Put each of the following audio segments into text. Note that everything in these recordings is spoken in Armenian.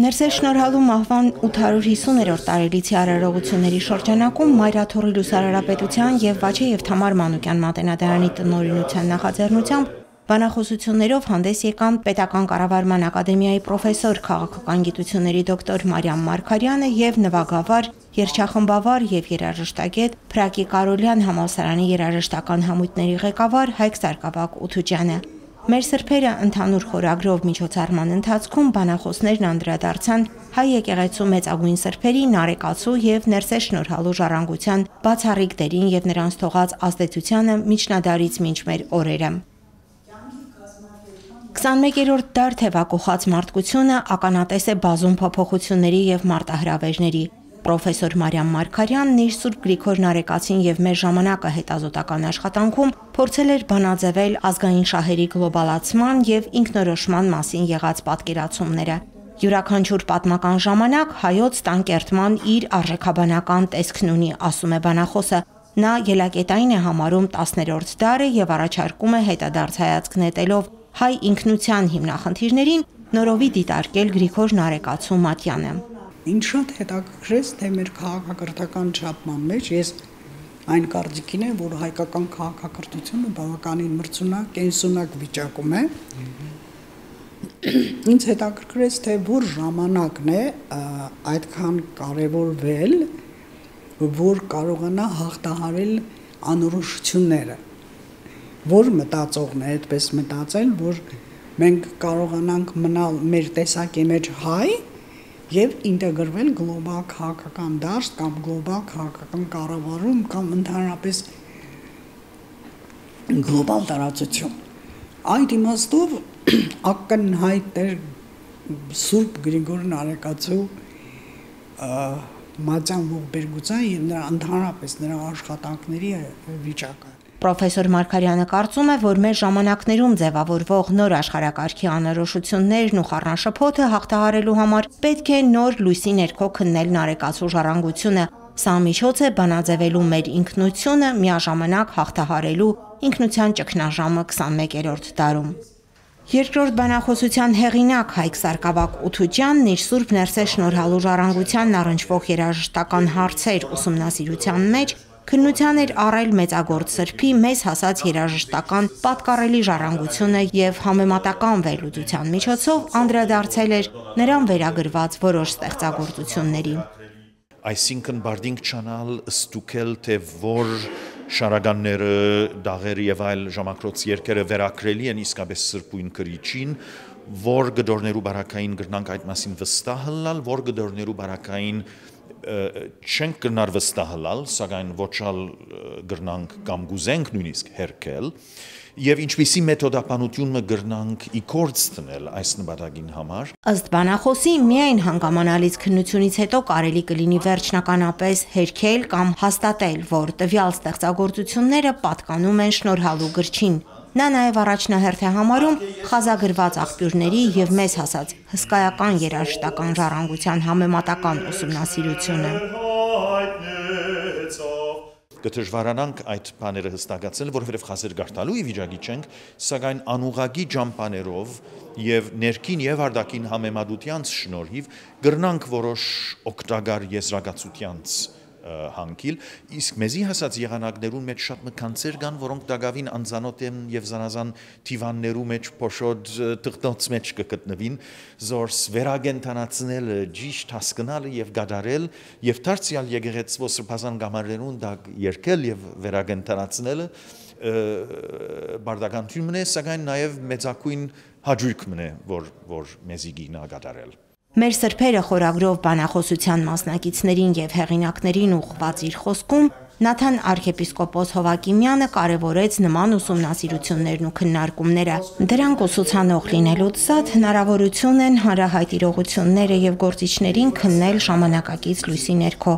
Ներսեր շնորհալու մահվան 850-րդ տարելիցի արարողությունների շրջանակում Մայրաթոռի լուսարարապետության եւ Վաչե եւ Թամար Մանուկյան մատենադարանի տնօրինության նախաձեռնությամբ բանախոսություններով հանդես եկան Պետական կառավարման ակադեմիայի պրոֆեսոր քաղաքական գիտությունների դոկտոր Մարիամ Մարգարյանը եւ նվագավար, երգչախմբավար եւ երաժշտագետ Փրակի Կարոլյան համալսարանի երաժշտական համույթների ղեկավար Հայկ Սարգսակ Ութուջյանը։ Մեր սրբերը ընդհանուր խորագրով միջոցառման ընթացքում բանախոսներն անդրադարձան հայ եկեղեցու մեծագույն սրբերի Նարեկացու եւ Ներսեր շնորհալու ժառանգության բացառիկ դերին եւ նրանց թողած ազդեցությանը միջնադարից մինչ մեր օրերը։ 21-րդ դար թևակողած մարդկությունը ականատես է բազում փոփոխությունների եւ մարտահրավերների։ Պրոֆեսոր Մարիամ Մարգարյանն իր Սուրբ Գրիգոր Նարեկացին եւ մեր ժամանակը հետազոտական աշխատանքում փորձել էր բանաձևել ազգային շահերի գլոբալացման եւ ինքնորոշման մասին եղած պատկերացումները։ Յուրաքանչյուր պատմական ժամանակ հայոց տանկերտման իր արժեքաբանական տեսքն ունի, ասում է բանախոսը։ Նա ելակետային է համարում 10-րդ դարը եւ առաջարկում է հետադարձ հայացք նետելով հայ ինքնության հիմնախնդիրներին նորովի դիտարկել Գրիգոր Նարեկացու մատյանը։ Ինչ շատ հետաքրքրեց, թե մեր քաղաքակրթական չափման մեջ ես այն կարծիքին եմ, որ հայկական քաղաքակրթությունը բավականին մրցունակ, կենսունակ վիճակում է։ Ինձ հետաքրքրեց, թե որ ժամանակն է այդքան կարևորվել, որ կարողանա հաղթահարել անորոշությունները, որ մտածողն է այդպես մտածել, որ մենք կարողանանք մնալ մեր տեսակի մեջ հայ եւ ինտեգրվել գլոբալ քաղաքական դաշտ կամ գլոբալ քաղաքական կառավարում կամ ընդհանրապես գլոբալ տարածություն։ Այդ իմաստով ակնհայտ էր Սուրբ Գրիգոր Նարեկացու մատյան ողբերգության եւ նրա ընդհանրապես նրա աշխատանքների վիճակը։ Պրոֆեսոր Մարգարյանը կարծում է, որ մեր ժամանակներում ձևավորվող նոր աշխարհակարգի անորոշություններն ու խառնաշփոթը հաղթահարելու համար պետք է նոր լույսի ներքո քննել Նարեկացու ժառանգությունը։ Սա միջոց է բանաձևելու մեր ինքնությունը, միաժամանակ հաղթահարելու ինքնության ճգնաժամը 21-րդ դարում։ Երկրորդ բանախոսության հեղինակ Հայկ Սարգսակ Ութուջյանն իր Սուրբ Ներսեր շնորհալու ժառանգությանն առնչվող երաժշտական հարցեր ուսումնասիրության մեջ քննության էր առել մեծագործ սրբի մեզ հասած երաժշտական պատկառելի ժառանգությունը եւ համեմատական վերլուծության միջոցով անդրադարձել էր նրան վերագրված որոշ ստեղծագործությունների։ Այսինքն բարդինք չանալ ստուգել թե որ շարականները, դաղերը եւ այլ ժամակրոց երկերը վերակրելի են իսկապես սրբույն կրիչին, որ գդորներու բարակային գրնանք այդ մասին վստահ լալ, որ գդորներու բարակային չենք կրնար վստահել, սակայն ոչալ գրնանք կամ գուզենք նույնիսկ հերքել, եւ ինչպիսի մեթոդապանությունը գրնանք իգործ տնել այս նպատակին համար։ Ըստ բանախոսի, միայն հանգամանալից քննությունից հետո կարելի կլինի վերջնականապես հերքել կամ հաստատել, որ տվյալ ստեղծագործությունները պատկանում են շնորհալու գրչին։ Նա նաև առաջնահերթ է համարում խազագրված աղբյուրների եւ մեզ հասած հսկայական երաժշտական ժառանգության համեմատական ուսումնասիրությունը։ Կդժվարանանք այդ բաները հստակացնել, որովհետև խազեր գարտալու վիճակի չենք, սակայն անուղագի ջամփաներով եւ ներքին եւ արտաքին համեմատությանց շնորհիվ գրնանք որոշ օգտակար եզրակացությանց հանգիլ, իսկ մեզի հասած եղանակներուն մեջ շատ մկանցեր կան, որոնք դակավին անձանոթ են եւ զանազան թիվաններու մեջ փոշոտ թղթոց մեջ կգտնվին, զորս վերագենտանացնելը, ճիշտ հասկանալը եւ գադարել եւ դարձյալ եկեղեցու սրբազան գամարներուն դա երկել եւ վերագենտանացնելը բարդականություն է, սակայն նաեւ մեծակույն հաջույք մնե, որ մեզի գինա գադարել։ Մեր սրբերը խորագրով բանախոսության մասնակիցներին եւ հեղինակներին ուղղված իր խոսքում Նաթան arczepiskopos Հովակիմյանը կարևորեց նման ուսումնասիրություններն ու քննարկումները։ Դրանք ուսուցանող լինելուց զատ հնարավորություն են հանրահայտ իրողությունները եւ գործիչներին քննել ժամանակակից լույսի ներքո,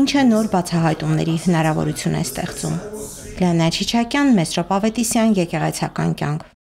ինչը նոր բացահայտումների հնարավորություն է ստեղծում։ Լիանա Չիչակյան, Մեսրոպ Ավետիսյան, Եկեղեցական կյանք։